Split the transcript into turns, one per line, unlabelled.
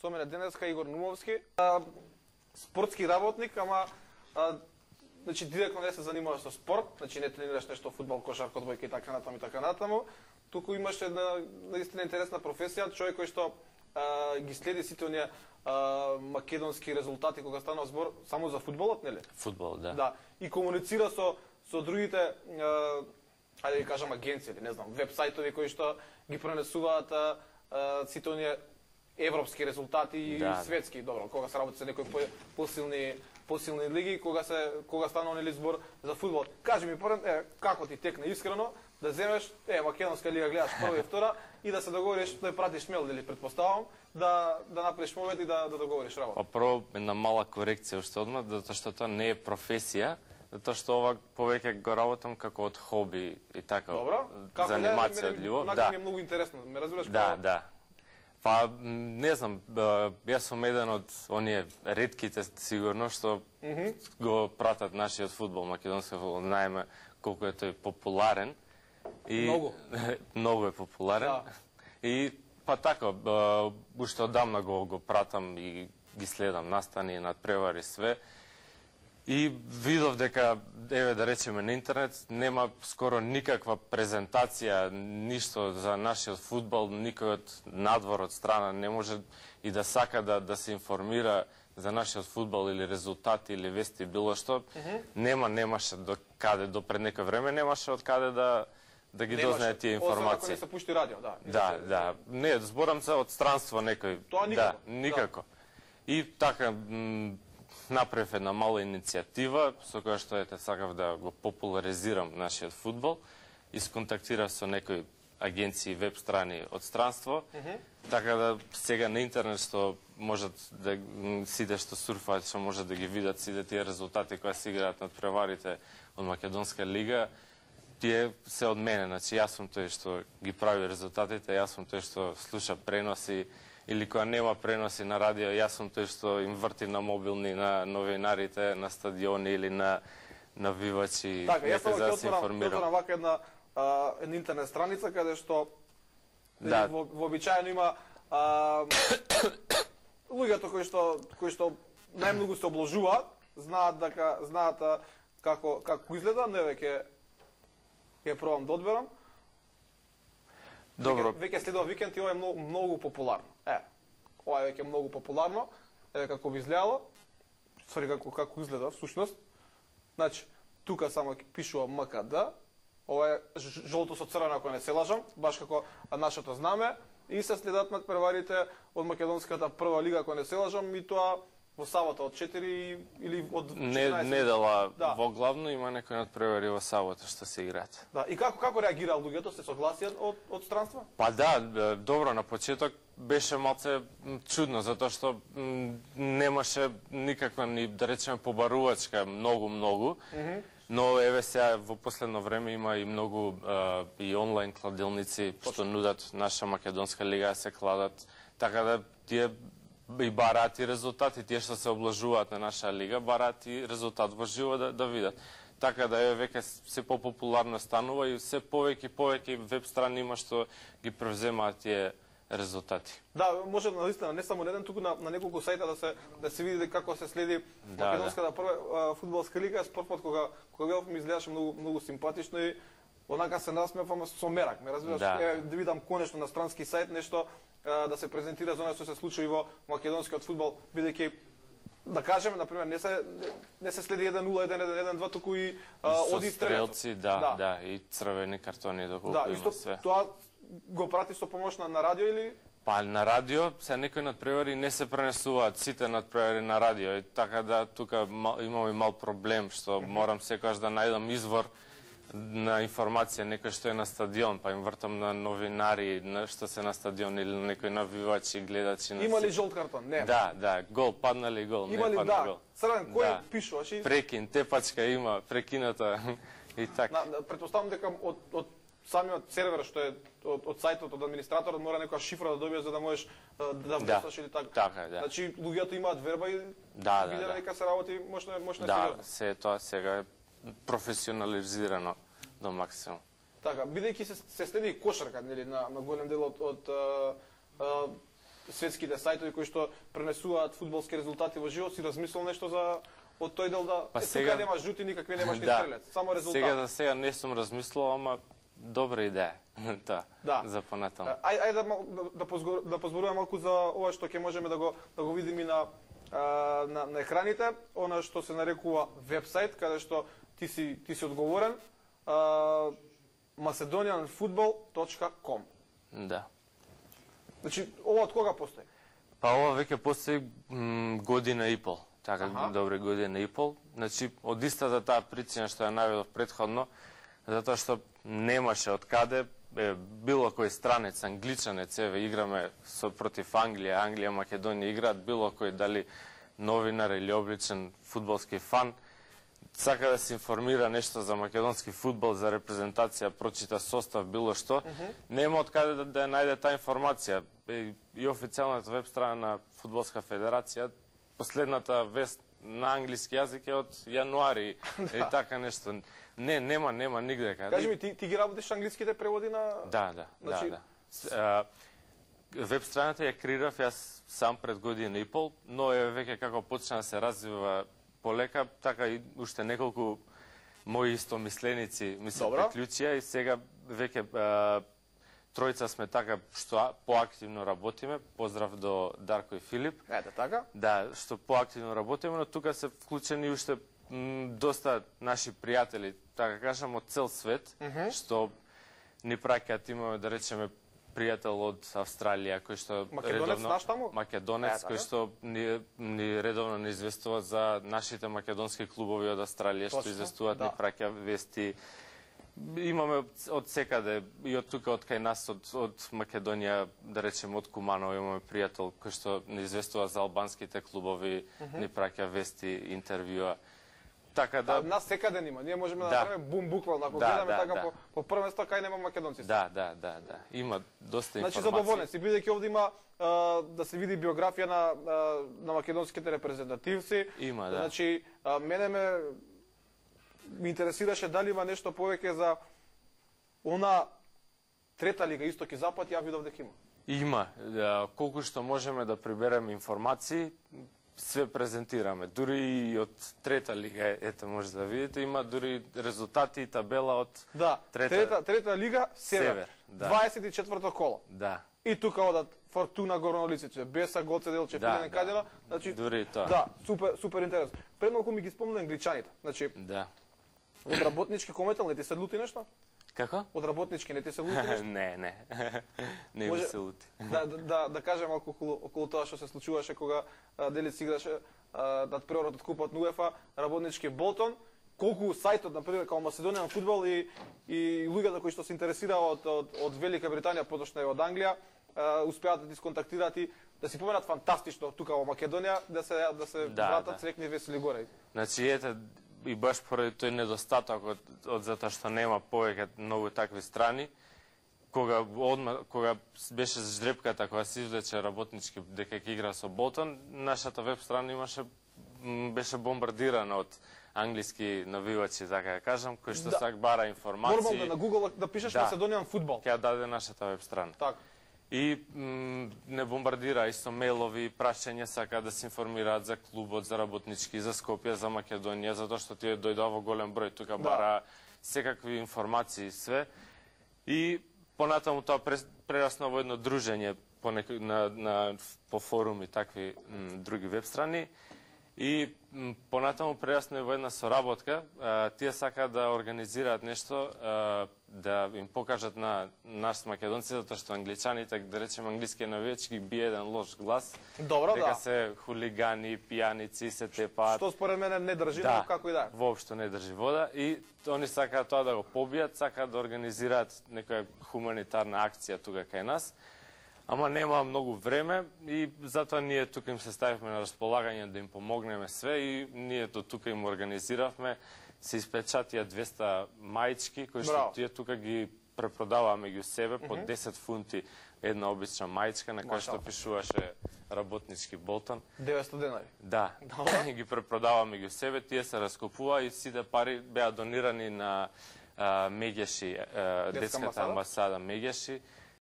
Со мене денеска Игор Нумовски, спортски работник, ама значи директно не се занимаваш со спорт, значи не тренираш нешто фудбал, кошарка, одбојка и така натаму, туку имаш една наистина интересна професија, човек кој што ги следи сите оние македонски резултати кога станува збор само за фудбалот, нели?
Фудбал, да.
Да, и комуницира со другите ајде да кажам агенции, или не знам, веб-сајтови кои што ги пренесуваат сите оние европски резултати и светски, добро, кога се работи со некои посилни лиги, кога станува нели збор за фудбал. Кажи ми поред, како ти текне искрено да земеш македонска лига гледаш прва и втора и да се договориш да пратиш мейл, дали предпоставам, да направиш момент и да договориш работа.
Прво една мала корекција уште одмah, затоа што тоа не е професија, затоа што ова повеќе го работам како од хоби и така.
Добро.
Занимација од љубов.
Да, ми е многу интересно, ме разбираш?
Да. Па, не знам, јас сум еден од оние ретките, сигурно, што го пратат нашиот фудбал, македонски фудбал, знаеме колку е тој популарен.
Многу.
Многу е популарен. И, па така, уште одамна го пратам и ги следам настани, надпревари, све. И видов дека, еве да речеме на интернет, нема скоро никаква презентација, ништо за нашиот фудбал, никој од надвор, од страна не може и да сака да се информира за нашиот фудбал или резултати или вести, било што. Немаше до каде, до пред некој време немаше од каде да ги дознае тие информации.
Освен ако не се пушти радио, да.
Да. Не, зборам се од странство некој.
Тоа никако.
Да, никако. И така, направив една мала иницијатива, со која што сакав да го популаризирам нашиот фудбал, и сконтактирав со некои агенции, веб страни од странство, така да сега на интернет што можат да сите што сурфаат, што можат да ги видат сите тие резултати кои се играат над преварите од Македонска лига, тие се од мене, значи јас сум тој што ги прави резултатите, јас сум тој што слуша преноси, или кога нема преноси на радио, јас сум тој што им врти на мобилни, на новинарите, на стадиони или на навивачи,
нека
за да се информирам.
Така, јас вака една интернет страница, каде што вообичаено има луѓето кои што најмногу се обложуваат, знаат како изгледа, не ќе пробам да одберам.
Добро.
Веќе следува викенд и ова е многу популарно. Ова е веќе многу популарно. Еве како би изгледало. Сори како изгледа всушност. Значи, тука само пишува МКД. Ова е жолто со црвено, ако не се лажам, баш како нашето знаме, и се следат надпреварите од македонската прва лига, ако не се лажам, и тоа во сабота од 4 или од 14.
Недела во главно има некои надпревари во сабота што се играат.
Да, и како реагираа луѓето, се согласија од странство?
Па да, добро, на почеток беше малце чудно, затоа што немаше никаква ни, да речеме, побарувачка многу, но еве сега во последно време има и многу и онлайн кладилници што нудат наша македонска лига, се кладат, така да тие и бараат и резултати, тие што се облажуваат на наша лига, бараат и резултат во живо да видат. Така да еве веќе се популарно станува и се повеќе веб страни има што ги превземаат тие резултати.
Да, може наистина не само на еден, туку на неколку сајта да се види како се следи македонската прва фудбалска лига. Спортот кога бев ми изгледаше многу симпатично и онака се насмевам со мерак, ме разбираш, да видам конечно на странски сајт нешто да се презентира за оно што се случува и во македонскиот фудбал, бидејќи да кажеме, например, не се следи 1-0, 1-1-1-2, туку и оди
стрелци, да, и црвени картони доколку има све.
Да, тоа го прати со помош на радио или?
Па на радио, се некои надпревари не се пренесуваат сите надпревари на радио, така да тука имаме мал проблем, што морам секогаш да најдам извор на информација, некој што е на стадион, па им вртам на новинари, што се на стадион или на некој навивачи, гледачи.
Има ли жолт картон? Не.
Да, гол, падна ли гол, не падна гол.
Црвен, кој пишуваш?
Прекин, тепачка има, прекината и така.
Претпоставам дека од самиот сервер што е од сајтот, од администраторот, мора некоја шифра да добиеш за да можеш да влезеш или така.
Така, да.
Значи, луѓето имаат верба и виделе дека се работи мощно сериозно.
Да, се тоа сега е професионализирано до максимум.
Така, бидејќи се следи кошарка, нели, на голем дел од светските сајтови кои што пренесуваат фудбалски резултати во живот, си размислил нешто за од тој дел да тука нема жути никакви, немаш ни стрелец, само резултат.
За сега не сум размислил, ама добра идеја. За понатаму.
Ајде да позборуваме малку за ова што ќе можеме да го видиме на екраните, она што се нарекува вебсайт, каде што ти си одговорен, macedonianfootball.com.
Да.
Значи, ова од кога постои?
Па ова веќе постои година и пол. Така, добре, година и пол. Значи, од истата таа причина што ја наведов претходно, затоа што немаше од каде, било кој странец, англичанец, еве, играме против Англија, Англија, Македонија играат, било кој, дали новинар или обличен фудбалски фан, сака да се информира нешто за македонски фудбал, за репрезентација, прочита состав, било што, нема од каде да ја најде таа информација. И официјалната веб страна на Фудбалска федерација, последната вест на англиски јазик е од јануари и така нешто. Нема нигде каде.
Кажи ми, ти ги работиш англиските преводи на...
Да. Веб страната ја креирав јас сам пред година и пол, но е веќе како почна да се развива полека, така и уште неколку мои истомисленици ми се приклучија и сега веќе тројца сме така што поактивно работиме. Поздрав до Дарко и Филип.
Ете така?
Да, што поактивно работиме, но тука се вклучени уште доста наши пријатели, така кажам, од цел свет, што ни праќаат, имаме да речеме пријател од Австралија, кој што Македонец, кој што ни редовно ни известува за нашите македонски клубови од Австралија, што известуваат, ни праќа вести. Имаме од секаде, и од тука, од кај нас, од Македонија, да речем, од Куманово, имаме пријател кој што ни известува за албанските клубови, ни праќа вести, интервјуа. Така да...
Нас секаде нема, ние можеме да направиме бум буквално, ако гледаме така по прво место, кај нема македонци.
Да. Има доста информација.
Значи, задоволен си, бидејќи овде има да се види биографија на македонските репрезентативци.
Има, да.
Значи, мене ми интересираше дали има нешто повеќе за она трета лига Исток и Запад, ја видов дека има.
Има. Колку што можеме да прибереме информации, све презентираме. Дури и од трета лига, ете може да видите, има дури резултати и табела од
трета лига Север. 24-то коло.
Да.
И тука одат Фортуна, Горно Лицице, Беса, Гоце Делче, Пилен Кадела. Значи,
дури тоа.
Да, супер интерес. Пред малку ми ги спомна англичаните. Значи, од работнички кометел не ти се лути нешто?
Како?
Од работнички не ти се лути нешто?
Не. Не ми се лути.
Да кажем малку околу тоа што се случуваше кога Делец играше над преорот од купот на УЕФА, работнички Болтон, колку сајтот, например, како Macedonian Football и луѓето кои што се интересираат од Велика Британија, поточно и од Англија, успеат да ти сконтактираат и да си поменат фантастично тука во Македонија, да се вратат срекни весели горе.
Значи, ете, и баш поради тој недостаток од затоа што нема повеќе многу такви страни, кога беше жрепката, кога се извлече работнички дека ќе игра со Болтон, нашата веб страна беше бомбардирана од англиски навивачи, така да кажам, кои што сак бара информации.
Нормално на Google да пишеш Macedonian Football.
Ќе даде нашата веб страна.
Така.
И не бомбардира исто мейлови, прашања, сака да се информираат за клубот, за работнички, за Скопје, за Македонија, затоа што тие дојдоа во голем број, тука бара секакви информации, све. И понатаму тоа прерасна во едно дружење по форуми, такви други веб страни. И понатаму прерасна во една соработка, тие сака да организираат нешто, да им покажат на нас македонци, затоа што англичаните, да речем англиски навивачи, ги бие еден лош глас.
Добро,
дека се хулигани, пијаници, се тепаат.
Што според мене не држи, но како и да.
Воопшто не држи вода и они сакаат тоа да го побијат, сакаат да организираат некоја хуманитарна акција тука кај нас. Ама нема многу време и затоа ние тука им се ставивме на располагање да им помогнеме све и ние до тука им организиравме. Се испечатија 200 маички, кои што тие тука ги препродаваме ги у себе по 10 фунти една обична маичка на која што пишуваше работнички Болтон.
900 денари.
Да, ги препродаваме ги у себе, тие се раскупува и сите пари беа донирани на Мегеши, детската амбасада Мегеши.